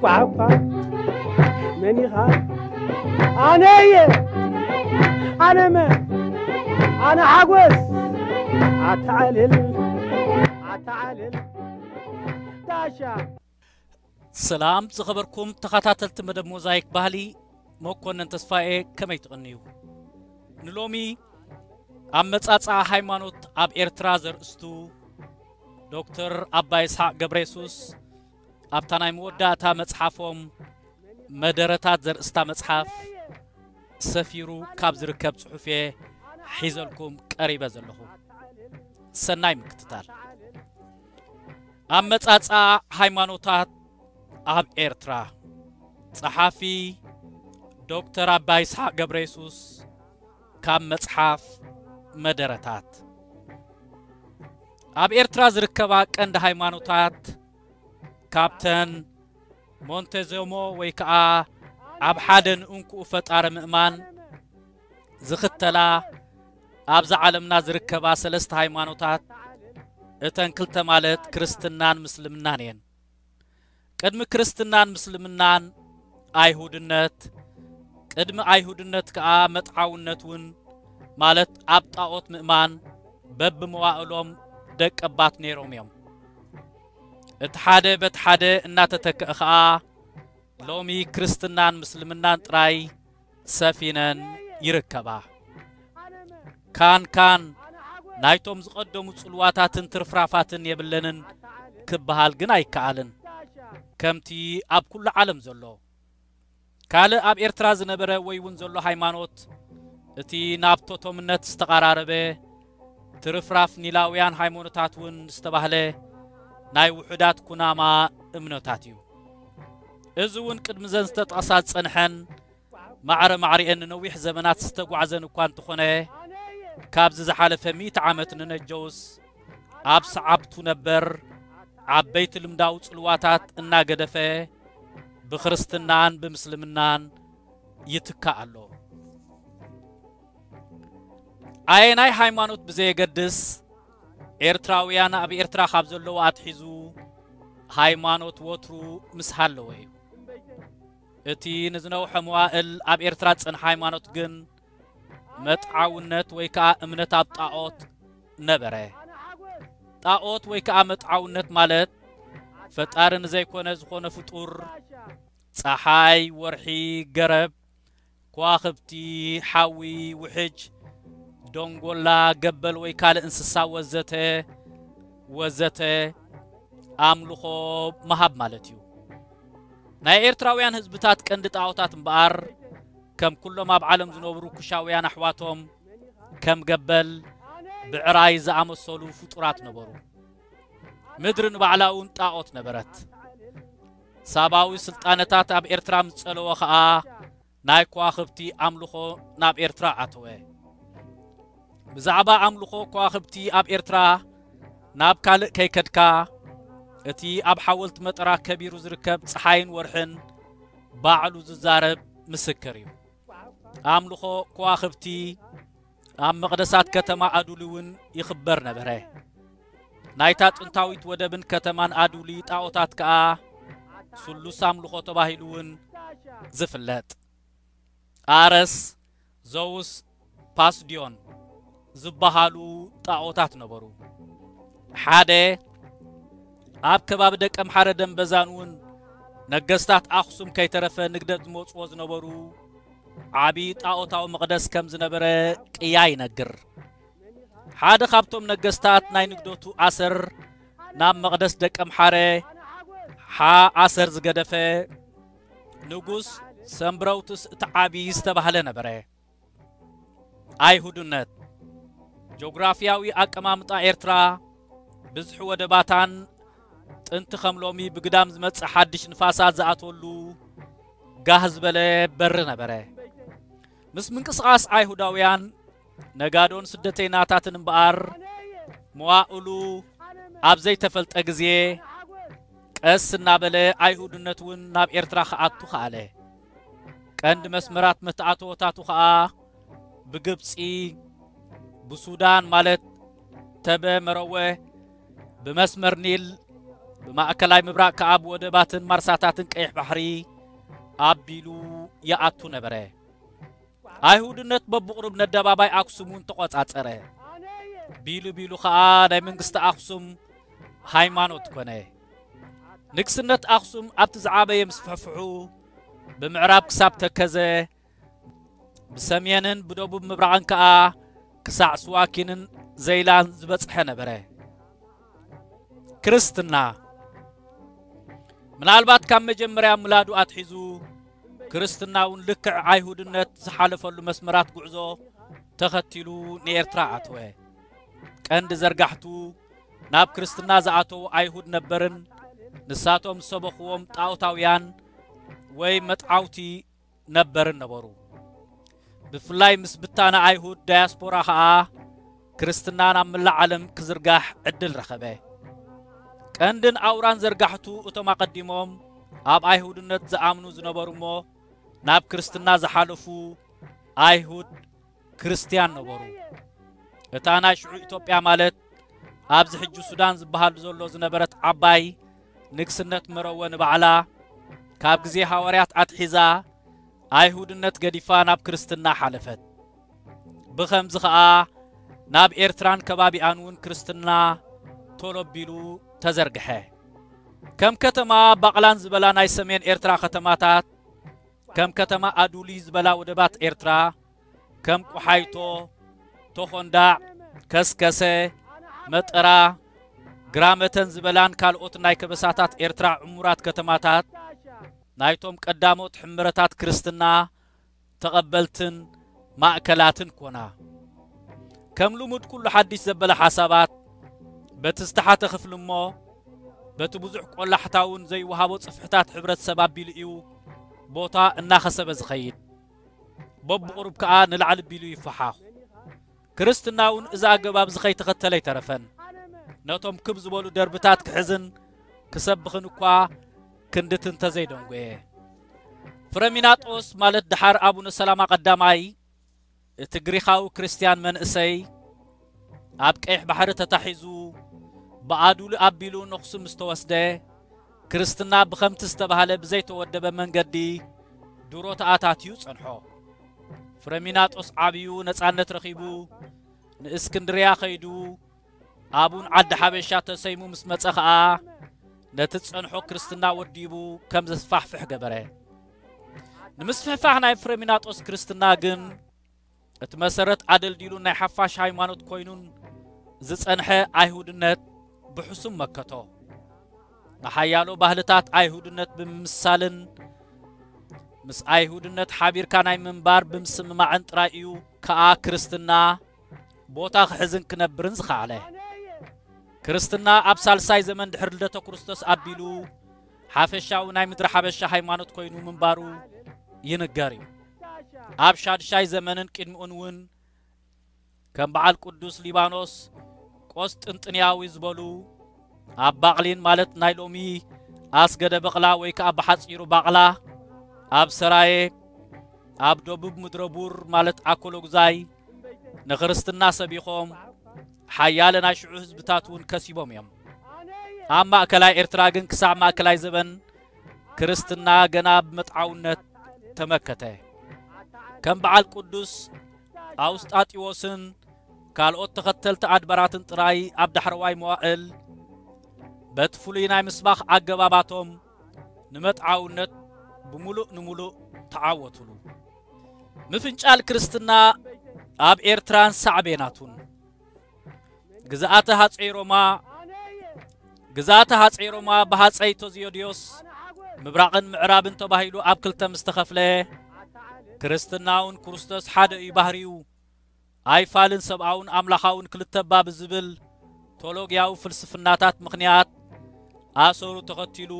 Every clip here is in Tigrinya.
ኳኳ መን ኢኻ? ኣነ እየ። ኣነ መን? ኣነ ሓጎስ። ኣተዓልል ኣተዓልል ጋሻ። ሰላም ዝኸበርኩም ተኸታተልቲ መደብ ሞዛይክ ባህሊ፣ መኮነን ተስፋኤ፣ ከመይ ትቕንዩ? ንሎሚ ኣመጻጽኣ ሃይማኖት ኣብ ኤርትራ ዘርእስቱ ዶክተር ኣባ ይስሓቅ ገብረየሱስ ኣብታ ናይ መወዳእታ መጽሓፎም መደረታት ዘርእስታ መጽሓፍ ሰፊሩ ካብ ዝርከብ ጽሑፍ እየ ሒዘልኩም ቀሪበ ዘለኹ። ሰናይ ምክትታል። ኣመጻጽኣ ሃይማኖታት ኣብ ኤርትራ። ጸሓፊ ዶክተር ኣባ ይስሓቅ ገብረየሱስ ካብ መጽሓፍ መደረታት። ኣብ ኤርትራ ዝርከባ ቀንዲ ሃይማኖታት ካብተን ሞንቴዞሞ ወይ ከኣ ኣብ ሓደ ንእንኩኡ ፈጣሪ ምእማን ዝኽተላ ኣብዛ ዓለምና ዝርከባ ሰለስተ ሃይማኖታት እተን ክልተ ማለት ክርስትናን ምስልምናን እየን። ቅድሚ ክርስትናን ምስልምናን ኣይሁድነት፣ ቅድሚ ኣይሁድነት ከኣ መጥዓውነት እውን ማለት ኣብ ጣዖት ምእማን በብመዋእሎም ደቀባት ነይሮም እዮም። እቲ ሓደ በቲ ሓደ እናተተክአ ኸኣ ሎሚ ክርስትናን ምስልምናን ጥራይ ሰፊነን ይርከባ። ካን ካን ናይቶም ዝቐደሙ ጽልዋታትን ትርፍራፋትን የብለንን ክበሃል ግን ኣይከኣልን። ከምቲ ኣብ ኩሉ ዓለም ዘሎ ካልእ ኣብ ኤርትራ ዝነበረ ወይ እውን ዘሎ ሃይማኖት እቲ ናብ ቶቶምነት ዝተቓራረበ ትርፍራፍ ኒላውያን ሃይማኖታት እውን ዝተባህለ ናይ ውሑዳት ኩናማ እምነታት እዩ። እዚ እውን ቅድሚ ዘን ዝተጠቕሳ ዝጸንሐን ማዕረ ማዕሪኤን ንነዊሕ ዘመናት ዝተጓዕዘን እኳ እንተኾነ፣ ካብዚ ዝሓለፈ ሚእቲ ዓመት ንነጀውስ ኣብ ሰዓብቱ ነበር ዓበይቲ ልምዳዊ ጽልዋታት እናገደፈ ብክርስትናን ብምስልምናን ይትካእ ኣሎ። ኣየናይ ሃይማኖት ብዘየገድስ፣ ኤርትራውያን ኣብ ኤርትራ ካብ ዘለዉ ኣትሒዙ ሃይማኖት ወትሩ ምስ ሃለወ እዩ። እቲ ንዝነውሐ መዋእል ኣብ ኤርትራ ዝጸንሐ ሃይማኖት ግን መጥዓውነት ወይ ከኣ እምነት ኣብ ጣዖት ነበረ። ጣዖት ወይ ከኣ መጥዓውነት ማለት ፈጣሪ ንዘይኮነ ዝኾነ ፍጡር፣ ጸሓይ፣ ወርሒ፣ ገረብ፣ ከዋኽብቲ፣ ሓዊ፣ ውሕጅ፣ ደንጎላ፣ ገበል ወይ ካልእ እንስሳ ወዘተ ወዘተ ኣምልኾ ምሃብ ማለት እዩ። ናይ ኤርትራውያን ህዝብታት ቀንዲ ጣዖታት እምበኣር፣ ከም ኩሎም ኣብ ዓለም ዝነብሩ ኩሻውያን ኣሕዋቶም፣ ከም ገበል፣ ብዕራይ ዝኣመሰሉ ፍጡራት ነበሩ። ምድሪ ንባዕላ እውን ጣዖት ነበረት። ሳባዊ ስልጣነታት ኣብ ኤርትራ ምስ ጸለወ ኸኣ፣ ናይ ከዋኽብቲ ኣምልኾ ናብ ኤርትራ ኣተወ። ብዛዕባ ኣምልኾ ከዋኽብቲ ኣብ ኤርትራ ናብ ካልእ ከይከድካ፣ እቲ ኣብ ሓወልቲ መጠራ ከቢሩ ዝርከብ ጸሓይን ወርሕን ባዕሉ ዝዛረብ ምስክር እዩ። ኣምልኾ ከዋኽብቲ ኣብ መቕደሳት ከተማ ኣዱሊ እውን ይኽበር ነበረ። ናይታ ጥንታዊት ወደብን ከተማን ኣዱሊ ጣዖታት ከኣ ስሉስ ኣምልኾ ተባሂሉ እውን ዝፍለጥ። ኣረስ፣ ዘውስ፣ ፓስድዮን ዝበሃሉ ጣዖታት ነበሩ። ሓደ ኣብ ከባቢ ደቀምሓረ ደንበዛን እውን ነገስታት ኣኽሱም ከይተረፈ ንግደት ዝመጽዎ ዝነበሩ ዓቢ ጣዖታዊ መቕደስ ከም ዝነበረ ቅያ ይነግር። ሓደ ካብቶም ነገስታት ናይ ንግደቱ ኣሰር ናብ መቕደስ ደቀምሓረ ሓ ኣሰር ዝገደፈ ንጉስ ሰምብረውትስ እቲ ዓቢ ዝተባህለ ነበረ። ኣይሁድነት። ጆግራፍያዊ ኣቀማምጣ ኤርትራ ብዝሒ ወደባታን ጥንቲ ከም ሎሚ ብግዳም ዝመጽእ ሓድሽ ንፋሳት ዝኣትወሉ ጋህ ዝበለ በሪ ነበረ። ምስ ምንቅስቓስ ኣይሁዳውያን ነጋዶን ስደተይናታትን እምበኣር፣ መዋእሉ ኣብ ዘይተፈልጠ ግዜ፣ ቀስ እናበለ ኣይሁድነት እውን ናብ ኤርትራ ክኣቱ ከኣለ። ቀንዲ መስመራት መተኣተወታቱ ኸኣ ብግብጺ፣ ብሱዳን ማለት ተበ መረወ፣ ብመስመር ኒል ብማእከላይ ምብራቕ ከኣ ብወደባትን ማርሳታትን ቀይሕ ባሕሪ ኣቢሉ ይኣቱ ነበረ። ኣይሁድነት በብቕሩብ ነደባባይ ኣክሱም እውን ተቖጻጸረ። ቢሉ ቢሉ ኸኣ ናይ መንግስቲ ኣክሱም ሃይማኖት ኮነ። ንግስነት ኣክሱም ኣብቲ ዝዓበየ ምስፍሕፍሑ ብምዕራብ ክሳብ ተከዘ፣ ብሰሜንን ብደቡብ ምብራቕን ከኣ ክሳዕ ስዋኪንን ዘይላን ዝበጽሐ ነበረ። ክርስትና ምናልባት ካብ መጀመርያ ምላዱ ኣትሒዙ ክርስትና እውን ልክዕ ኣይሁድነት ዝሓለፈሉ መስመራት ጉዕዞ ተኸቲሉ ንኤርትራ ኣተወ። ቀንዲ ዘርጋሕቱ ናብ ክርስትና ዝኣተዉ ኣይሁድ ነበርን ንሳቶም ዝሰበኽዎም ጣዖታውያን ወይ መጥዓውቲ ነበርን ነበሩ። ብፍላይ ምስ ብታነ ኣይሁድ ዳያስፖራ ኸኣ ክርስትና ናብ መላእ ዓለም ክዝርጋሕ ዕድል ረኸበ። ቀንድን ኣውራን ዘርጋሕቱ እቶም ኣቐዲሞም ኣብ ኣይሁድነት ዝኣምኑ ዝነበሩ እሞ ናብ ክርስትና ዝሓለፉ ኣይሁድ ክርስትያን ነበሩ። እታ ናይ ሽዑ ኢትዮጵያ ማለት ኣብዚ ሕጂ ሱዳን ዝበሃል ዘሎ ዝነበረት ዓባይ ንግስነት መረወ ንባዕላ ካብ ግዜ ሃዋርያት ኣትሒዛ ኣይሁድነት ገዲፋ ናብ ክርስትና ሓለፈት። ብኸምዚ ኸኣ ናብ ኤርትራን ከባቢኣን እውን ክርስትና ቶሎ ኣቢሉ ተዘርግሐ። ከም ከተማ ባቕላን ዝበላ ናይ ሰሜን ኤርትራ ከተማታት፣ ከም ከተማ ኣዱሊ ዝበላ ወደባት ኤርትራ፣ ከም ቆሓይቶ፣ ተኾንዳዕ፣ ከስከሰ፣ መጠራ፣ ግራመተን ዝበላን ካልኦት ናይ ከበሳታት ኤርትራ ዕሙራት ከተማታት ናይቶም ቀዳሞት ሕምረታት ክርስትና ተቐበልትን ማእከላትን ኮና። ከም ልሙድ ኩሉ ሓድሽ ዘበለ ሓሳባት በቲ ዝተሓተ ክፍሊ እሞ በቲ ብዙሕ ቆላሕታውን ዘይወሃቦ ጽፍሕታት ሕብረተሰብ ኣቢሉ እዩ ቦታ እናኸሰበ ዝኸይድ። በብቑሩብ ከኣ ንላዕሊ ቢሉ ይፈሓኹ። ክርስትና እውን እዚ ኣገባብ እዚ ከይተኸተለ ኣይተረፈን። ነቶም ክብ ዝበሉ ደርብታት ክሕዝን ክሰብኽን እኳ ክንድቲ እንተዘይደንጎየ። ፍረሚናጦስ ማለት ደሓር ኣቡነ ሰላማ ቀዳማይ እቲ ግሪኻዊ ክርስትያን መንእሰይ ኣብ ቀይሕ ባሕሪ ተታሒዙ ብኣዱሊ ኣቢሉ ነኽሱ ምስ ተወስደ ክርስትና ብኸምቲ ዝተባህለ ብዘይተወደበ መንገዲ ድሮ ተኣታትዩ ጸንሖ። ፍረሚናጦስ ዓብዩ ነጻነት ረኺቡ ንእስክንድርያ ኸይዱ ኣቡን ዓዲ ሓበሻ ተሰይሙ ምስ መጸ ኸኣ ነቲ ዝጸንሖ ክርስትና ወዲቡ ከም ዘስፋሕፍሕ ገበረ። ንምስፍሕፋሕ ናይ ፍረሚናጦስ ክርስትና ግን እቲ መሰረት ኣደልዲሉ ናይ ሓፋሽ ሃይማኖት ኮይኑን ዝጸንሐ ኣይሁድነት ብሕሱም መከቶ። ንሓያሎ ባህልታት ኣይሁድነት ብምምሳልን ምስ ኣይሁድነት ሓቢርካ ናይ ምንባር ብምስምማዕን ጥራይ እዩ ከኣ ክርስትና ቦታ ክሕዝን ክነብርን ዝኸኣለ። ክርስትና ኣብ ሳልሳይ ዘመን ድሕሪ ልደተ ክርስቶስ ኣቢሉ ሓፈሻዊ ናይ ምድሪ ሓበሻ ሃይማኖት ኮይኑ ምንባሩ ይንገር እዩ። ኣብ ሻድሻይ ዘመንን ቅድሚኡን እውን ከም በዓል ቅዱስ ሊባኖስ ቆስጥንጥንያዊ ዝበሉ ኣብ ባቕሊን ማለት ናይ ሎሚ ኣስገደ በቕላ ወይ ከዓ ብሓፂሩ ባቕላ ኣብ ሰራየ ኣብ ደቡብ ምድረ ቡር ማለት ኣኮሎጉዛይ ንክርስትና ሰቢኾም ሓያለ ናይ ሽዑ ህዝብታት እውን ከሲቦም እዮም። ኣብ ማእከላይ ኤርትራ ግን ክሳዕ ማእከላይ ዘበን ክርስትና ገና ብመጥዓውነት ተመከተ። ከም በዓል ቅዱስ ኣውስጣጢዎስን ካልኦት ተኸተልቲ ኣድባራትን ጥራይ ኣብ ዳሕረዋይ መዋእል በቲ ፍሉይ ናይ ምስባኽ ኣገባባቶም ንመጥዓውነት ብምሉእ ንምሉእ ተዓወቱሉ። ምፍንጫል ክርስትና ኣብ ኤርትራን ሳዕቤናቱን። ግዝኣተ ሃፀይ ሮማ ግዝኣተ ሃፀይ ሮማ ብሃፀይ ቶዚዮድዮስ ምብራቕን ምዕራብን ተባሂሉ ኣብ ክልተ ምስ ተኸፍለ ክርስትናውን ክርስቶስ ሓደ እዩ ባህሪኡ ኣይፋልን ሰብኣውን ኣምላኻውን ክልተ እባ ብዝብል ቶሎግያዊ ፍልስፍናታት ምኽንያት ኣሰሩ ተኸቲሉ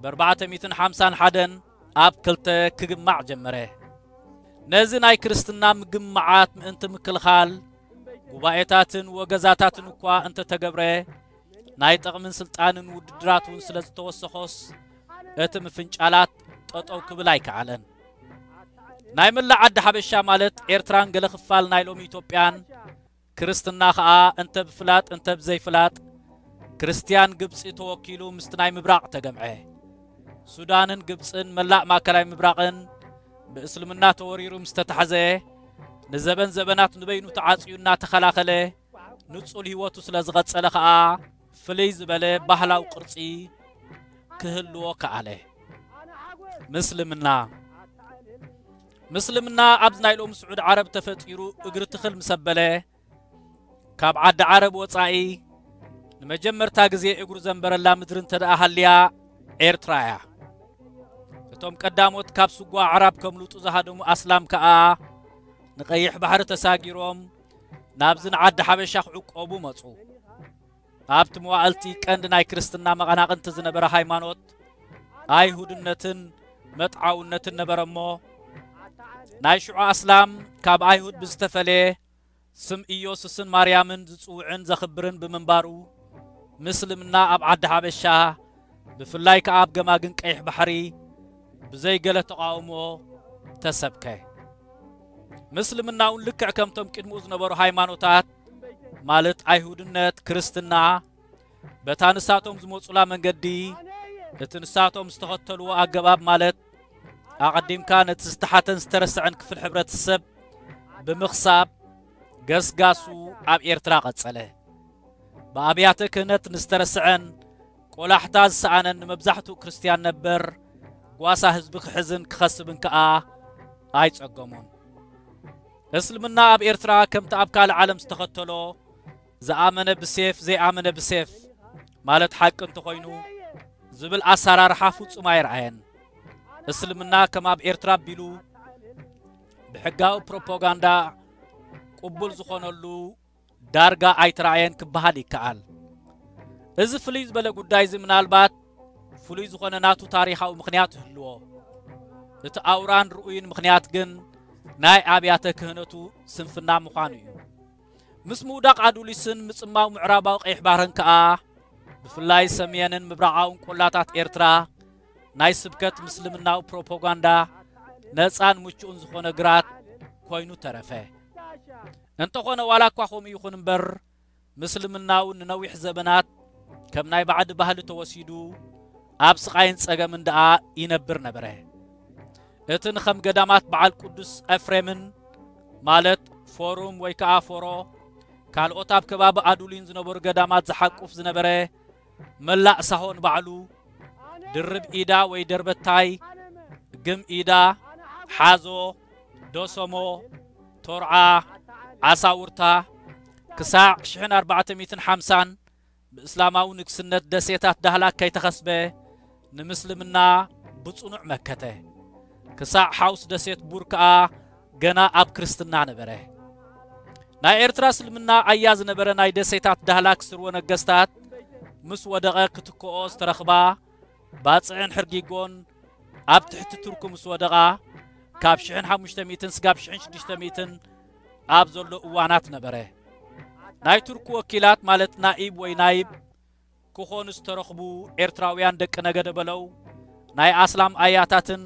ብ ኣርባዕተ ሚእትን ሓምሳን ሓደን ኣብ ክልተ ክግማዕ ጀመረ። ነዚ ናይ ክርስትና ምግማዓት ምእንቲ ምክልኻል ጉባኤታትን ወገዛታትን እኳ እንተተገብረ ናይ ጥቕምን ስልጣንን ውድድራት እውን ስለ ዝተወሰኾስ እቲ ምፍንጫላት ጠጠው ክብል ኣይከኣለን። ናይ መላእ ዓዲ ሓበሻ ማለት ኤርትራን ገለ ክፋል ናይ ሎሚ ኢትዮጵያን ክርስትና ኸኣ እንተ ብፍላጥ እንተ ብዘይፍላጥ ክርስትያን ግብጺ ተወኪሉ ምስቲ ናይ ምብራቕ ተገምዐ። ሱዳንን ግብጽን መላእ ማእከላይ ምብራቕን ብእስልምና ተወሪሩ ምስ ተታሕዘ፣ ንዘበን ዘበናት ንበይኑ ተዓጽዩ እናተኸላኸለ ንጹል ህይወቱ ስለ ዝቐጸለ ኸኣ፣ ፍልይ ዝበለ ባህላዊ ቅርጺ ክህልዎ ከኣለ። ምስልምና። ምስልምና ኣብዚ ናይ ሎሚ ስዑድ ዓረብ ተፈጢሩ እግሪ ትኽል ምስ ኣበለ፣ ካብ ዓዲ ዓረብ ወጻኢ ንመጀመርታ ግዜ እግሩ ዘንበረላ ምድሪ እንተ ደኣ ሃልያ፣ ኤርትራ እያ። እቶም ቀዳሞት ካብ ስጓ ኣዕራብ ከምልጡ ዝሃደሙ ኣስላም ከኣ፣ ንቐይሕ ባሕሪ ተሳጊሮም ናብዚ ንዓዲ ሓበሻ ክዕቆቡ መጹ። ኣብቲ መዋእልቲ ቀንዲ ናይ ክርስትና መቐናቕንቲ ዝነበረ ሃይማኖት ኣይሁድነትን መጥዓውነትን ነበረ እሞ፣ ናይ ሽዑ ኣስላም ካብ ኣይሁድ ብዝተፈለየ ስም ኢየሱስን ማርያምን ዝጽውዕን ዘኽብርን ብምንባሩ፣ ምስልምና ኣብ ዓዲ ሓበሻ፣ ብፍላይ ከኣ ኣብ ገማግም ቀይሕ ባሕሪ፣ ብዘይ ገለ ተቓውሞ ተሰብከ። ምስልምና እውን ልክዕ ከምቶም ቅድሚኡ ዝነበሩ ሃይማኖታት፣ ማለት ኣይሁድነት፣ ክርስትና፣ በታ ንሳቶም ዝመጹላ መንገዲ፣ እቲ ንሳቶም ዝተኸተልዎ ኣገባብ፣ ማለት ኣቐዲምካ ነቲ ዝተሓተን ዝተረስዐን ክፍል ሕብረተሰብ ብምኽሳብ፣ ገስጋሱ ኣብ ኤርትራ ቀጸለ። ብኣብያተ ክህነት ንዝተረስዐን ቆላሕታ ዝሰኣነን ንመብዛሕትኡ ክርስትያን ነበር፣ ጓሳ ህዝቢ ክሕዝን ክኸስብን ከኣ ኣይጸገሞን። እስልምና ኣብ ኤርትራ ከምቲ ኣብ ካልእ ዓለም ዝተኸተሎ፣ ዝኣመነ ብሴፍ፣ ዘይኣመነ ብሴፍ፣ ማለት ሓቂ እንተኾይኑ፣ ዝብል ኣሰራርሓ ፍጹም ኣይረኣየን። እስልምና ከም ኣብ ኤርትራ ኣቢሉ ብሕጋዊ ፕሮፓጋንዳ ቅቡል ዝኾነሉ ዳርጋ ኣይተራእየን ክበሃል ይከኣል። እዚ ፍልይ ዝበለ ጉዳይ እዚ ምናልባት ፍሉይ ዝኾነ ናቱ ታሪኻዊ ምኽንያት ይህልዎ። እቲ ኣውራን ርኡይን ምኽንያት ግን ናይ ኣብያተ ክህነቱ ስንፍና ምዃኑ እዩ። ምስ ምውዳቕ ኣዱሊስን ምጽማው ምዕራባዊ ቀይሕ ባሕርን ከኣ፣ ብፍላይ ሰሜንን ምብራቓውን ቆላታት ኤርትራ ናይ ስብከት ምስልምናዊ ፕሮፓጋንዳ ነጻን ምቹእን ዝኾነ ግራት ኮይኑ ተረፈ። እንተኾነ፣ ዋላ እኳ ከምኡ ይኹን እምበር፣ ምስልምና እውን ንነዊሕ ዘበናት ከም ናይ ባዕዲ ባህሊ ተወሲዱ፣ ኣብ ስቓይን ጸገምን ደኣ ይነብር ነበረ። እቲ ንኸም ገዳማት በዓል ቅዱስ ኤፍሬምን፣ ማለት ፎሩም ወይ ከኣ ፎሮ፣ ካልኦት ኣብ ከባቢ ኣዱሊን ዝነበሩ ገዳማት ዝሓቁፍ ዝነበረ መላእ ሳሆን ባዕሉ፣ ድርብ ኢዳ ወይ ደርበታይ፣ ግም ኢዳ፣ ሓዞ፣ ዶሰሞ፣ ቶርዓ፣ ዓሳውርታ፣ ክሳዕ ሽሕን ኣርባዕተ ሚእትን ሓምሳን ብእስላማዊ ንግስነት ደሴታት ዳህላክ ከይተኸስበ፣ ንምስልምና ብጽኑዕ መከተ። ክሳዕ ሓውስ ደሴት ቡር ከኣ ገና ኣብ ክርስትና ነበረ። ናይ ኤርትራ እስልምና ኣያ ዝነበረ ናይ ደሴታት ዳህላክ ስርወ ነገስታት ምስ ወደቐ፣ ክትክኦ ዝተረኽባ ባጽዕን ሕርጊጎን ኣብ ትሕቲ ቱርኪ ምስ ወደቓ፣ ካብ ሽሕን ሓሙሽተ ሚእትን ስጋብ ሽሕን ሽዱሽተ ሚእትን ኣብ ዘሎ እዋናት ነበረ። ናይ ቱርኪ ወኪላት፣ ማለት ናኢብ ወይ ናይብ ክኾኑ ዝተረኽቡ ኤርትራውያን ደቂ ነገደ በለው፣ ናይ ኣስላም ኣያታትን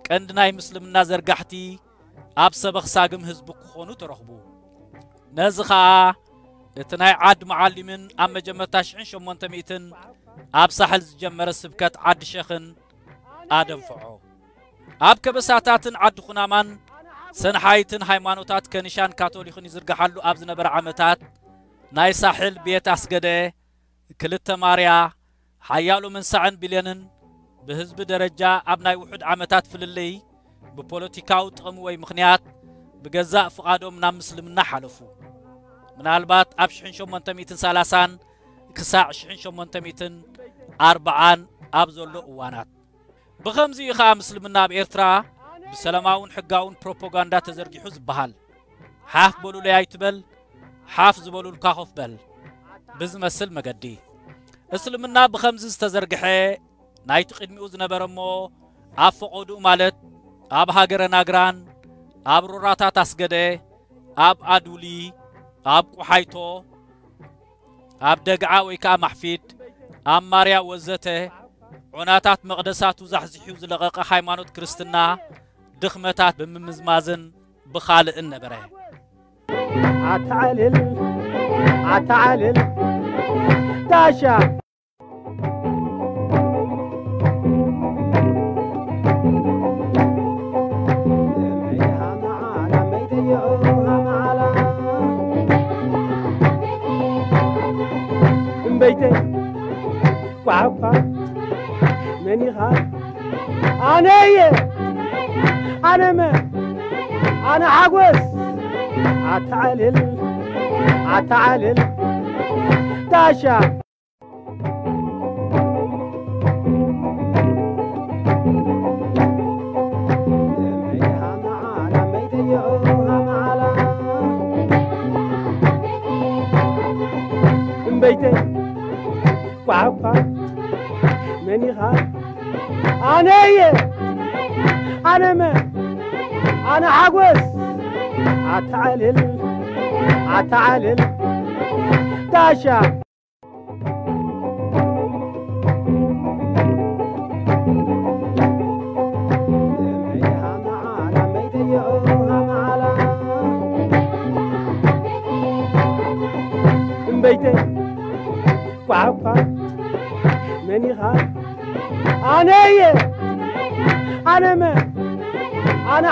ቀንዲ ናይ ምስልምና ዘርጋሕቲ ኣብ ሰበኽ ሳግም ህዝቢ ክኾኑ ተረኽቡ። ነዚ ኸኣ እቲ ናይ ዓድ መዓሊምን ኣብ መጀመርታ ሽሕን ሸሞንተ ሚእትን ኣብ ሳሕል ዝጀመረ ስብከት ዓዲ ሸኽን ኣደንፍዖ። ኣብ ከበሳታትን ዓዲ ኩናማን ሰንሓይትን ሃይማኖታት ከኒሻን ካቶሊኽን ይዝርግሓሉ ኣብ ዝነበረ ዓመታት፣ ናይ ሳሕል ቤት ኣስገደ፣ ክልተ ማርያ፣ ሓያሎ መንሳዕን ብሌንን ብህዝቢ ደረጃ ኣብ ናይ ውሑድ ዓመታት ፍልልይ ብፖለቲካዊ ጥቕሚ ወይ ምኽንያት ብገዛእ ፍቓዶም ናብ ምስልምና ሓለፉ። ምናልባት ኣብ ሽሕን ሸሞንተ ሚእትን ሰላሳን ክሳዕ ሽሕን ሸሞንተ ሚእትን ኣርብዓን ኣብ ዘሎ እዋናት። ብኸምዚ እዩ ኸኣ ምስልምና ኣብ ኤርትራ ብሰላማውን ሕጋውን ፕሮፓጋንዳ ተዘርጊሑ ዝበሃል። ሓፍ በሉለይ ኣይትበል፣ ሓፍ ዝበሉልካ ኮፍ በል ብዝመስል መገዲ። እስልምና ብኸምዚ ዝተዘርግሐ ናይቲ ቅድሚኡ ዝነበረ እሞ ኣብ ፈቐድኡ፣ ማለት ኣብ ሃገረ ናግራን፣ ኣብ ሮራታት ኣስገደ፣ ኣብ ኣዱሊ፣ ኣብ ቁሓይቶ፣ ኣብ ደግዓ ወይ ከኣ ማሕፊድ፣ ኣብ ማርያ ወዘተ ዑናታት መቕደሳቱ ዛሕዚሑ ዝለቐቐ ሃይማኖት ክርስትና ድኽመታት ብምምዝማዝን ብኻልእን ነበረ። ኣተዓልል፣ ኣተዓልል፣ ዳሻ። እምበይተይ ኳዕኳ መኒኻ ኣነየ ኣነመ ኣነ ሓጎስ ኣተዓልል ኣተዓልል ዳሻ። እምበይተይ ኳዕኳ መኒኻ ኣነየ ኣነመ ኣነ ሓጎስ ኣተዓልል ኣተዓልል ዳሻ። እምበይተይ ኳዕኳ መኒኻ ኣነየ ኣነመ ኣነ